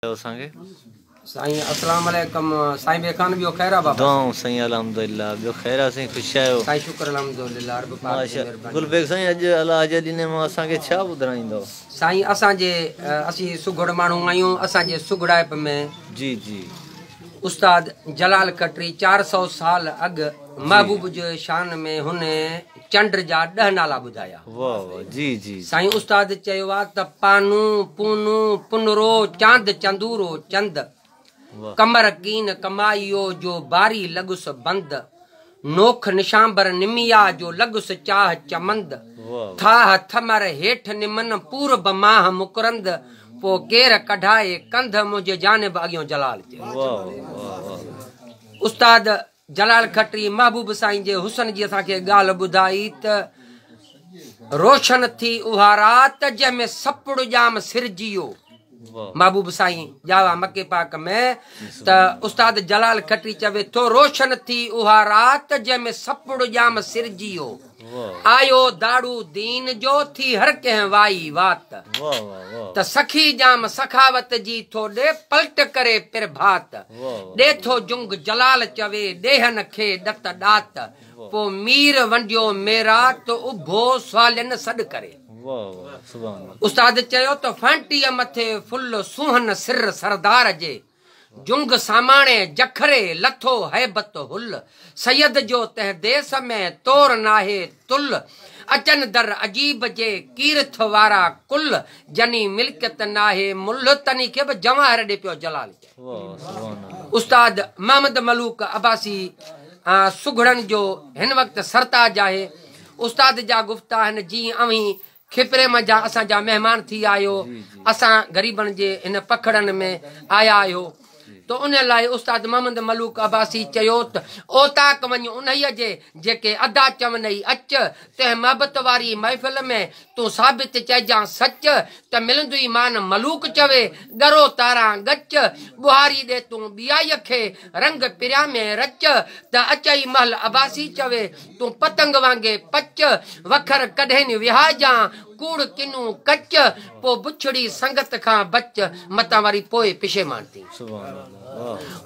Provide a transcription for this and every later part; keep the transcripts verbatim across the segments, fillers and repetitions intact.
असांखे साईं अस्सलाम वालेकुम। साईं बेखान ॿियो ख़ैर आहे बाबा? दुआऊं साईं अल्हम्दुलिल्लाह, ॿियो ख़ैर आहे साईं, ख़ुशि आहियो? साईं शुक्र अल्हम्दुलिल्लाह, रब पाक जी मेहरबानी। गुलबेग साईं अॼु अलाह जे ॾिने मां असांखे छा ॿुधाईंदो? साईं असांजे असीं सुघड़ माण्हू आहियूं, असांजे सुघड़ाइप में जी जी उस्ताद जलाल खत्री चार सौ साल अॻु महबूब जे शान में हुन चंड जा ॾह नाला ॿुधाया। वाह वाह जी जी साईं उस्ताद चयो आहे त पानू पूनू पुनरो चांद चंदूरो चंद, कमर कीन कमाइयो जो बारी लॻुस बंद, नोख निशांबर निमिया जो लॻुस चाह चमंद, थाह थमर हेठ निमन पूरब माह मुकरंद, पो केर कढाए कंध मुंहिंजे जानिब अॻियों जलाल चयो। उस्ताद जलाल खत्री महबूब साईं जे हुसन जी असांखे ॻाल्हि ॿुधाई त रोशन थी उहा राति जंहिंमें सपड़ ॼाम सिरजियो। महबूब साईं ॼावा मके पाक में त उस्ताद जलाल खत्री चवे थो रोशन थी उहा राति जंहिंमें सपड़ ॼाम सिरजियो, आयो दाड़ू दीन जो थी हर कंहिं वाई वात, त सखी ॼाम सखावत जी थो ॾे पलट करे प्रभात, ॾे थो जुंग जलाल चवे ॾेहन खे ॾत ॾात, पो मीर वंडियो मेरा तो उभो सवालिन सॾ करे। उस्ताद चयो त फांटीअ मथे फुल सुहन सिर सरदार जे, जुंग सामाणे जखरे लथो हैबत हुल, सैयद जो तंहिं देस में तोर नाहे तुल, अचन दर अजीब जे कीरथ वारा कुल, जनी मिल्कियत नाहे मुल्ह तनी खे बि जवाहर ॾे पियो जलाल। उस्ताद मोहम्मद मलूक अब्बासी सुघड़नि जो हिन वक़्तु सरताज आहे। उस्ताद जा गुफ्ता आहिनि जीअं अव्हीं खिपरे मंझां असांजा महिमान थी आयो, असां ग़रीबनि जे हिन पखड़नि में आया आहियो, तो उन लाइ उस्ताद मोहम्मद मलूक अब्बासी चयो त ओताक वञ उन्हीअ जे जेके अदा चवनई अच, तंहिं मोहबत वारी महफ़िल में तूं साबित चइजां सच, त मिलंदुई मान मलूक चवे ॻरो तारा ॻच, ॿुहारी ॾे तूं ॿियाईअ खे रंग पिरिया में रच, त अचई महिल अब्बासी चवे तूं पतंग वांगे पच, वखर कॾहिं विहाइजां कूड़ किनू कच, पोइ बुछड़ी संगत खां बच, मतां वरी पोइ पिशेमान थी।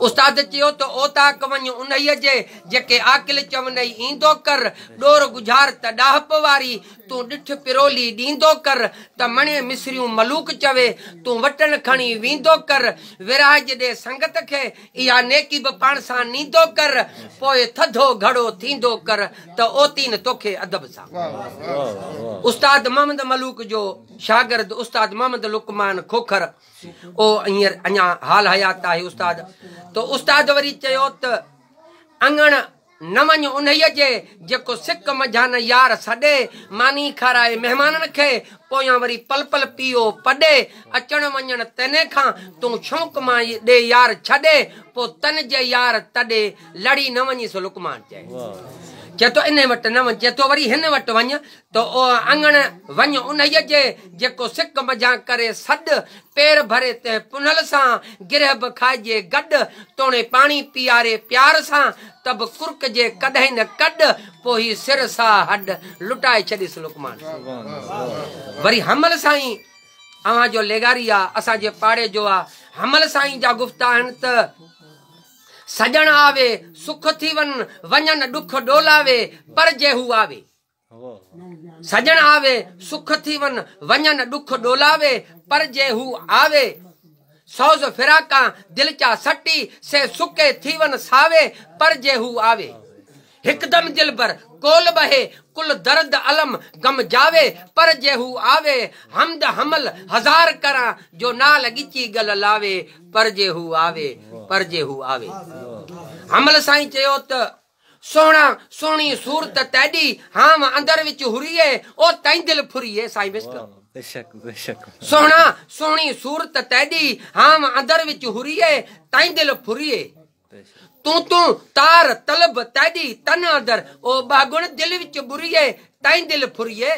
उस्ताद चयो त ओताक वञ उन्हीअ जे जेके आकिल चवनई ईंदो कर, ॾोर गुझार त ॾाहप वारी तूं ॾिठ पिरोली ॾींदो कर, त मणे मिसरियूं मलूक चवे तूं वटण खणी वेंदो कर, विराज ॾे संगत खे इहा नेकी बि पाण सां नींदो कर, पोइ थधो घड़ो थींदो कर त ओतीन तोखे अदब सां। उस्ताद मोहम्मद मलूक जो शागिर्द उस्ताद मोहम्मद लुकमान खोखर ओ हींअर अञा हाल हयात आहे उस्ताद। तो उस्ताद वरी चयो त अंगण न वञ उन्हीअ जे जेको सिक मंझां यार सॾे, मानी खाराए महिमाननि खे पोयां वरी पल पल पियो पॾे, अचण वञण तंहिं खां तूं शौक़ मां ॾे यार छॾे, पोइ तन जे यार तॾे लड़ी न वञी सो लुकमान चए। चए थो इन वटि न वञ, चए थो वरी हिन वटि वञ, त अंगण वञ उन्हीअ जे जेको सिक मंझां करे सॾ, पेर भरे तंहिं पुनल सां गिरह बि खाइजे गॾु, तोणे पाणी पीआरे प्यार सां, त बि कुर्क जे कॾहिं न कॾ, पोइ ही सिर सा हॾ लुटाए छॾीसि लुकमान। वरी हमल साईं अव्हां जो लेगारी आहे, असांजे पाड़े जो आहे, हमल साईं जा गुफ्ता आहिनि त सॼण आवे सुख थी वन, वञनि ॾुख ॾोलावे पर जे हू आवे, सॼण आवे सुख थी वन, वञनि ॾुख ॾोलावे पर जे हू आवे, सौज़ फिराका दिल चा सटी से सुके थी वन सावे पर जे हू आवे, हिकदम दिलबर कोल बहे कुल दर्द अलम गम जावे पर जे हू आवे, हमद हमल हजार करा जो नाल गिची गल लावे पर जे हू आवे पर जे हू आवे। हमल साईं चयो त सोहणा सोहणी सूरत तैडी हाम अंदर विच हुरीए ओ तैं दिल फुरीए। साईं बेशक बेशक सोहणा सोहणी सूरत तैडी हाम अंदर विच हुरीए तैं दिल फुरीए, तू तू तार तलब तैडी तन अंदर ओ बागुण दिल विच बुरीए तैं दिल फुरीए,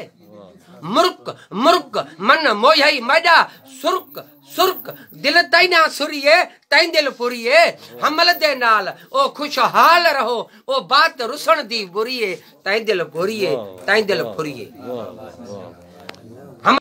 मुर्क मुर्क मन मोहई मॾा सुर्क सुर्क दिल तैना सुरीए तैं दिल फुरीए, हमल दे नाल ओ खुशहाल रहो ओ बात रुसण दी बुरीए तैं दिल फुरीए तैं दिल फुरीए।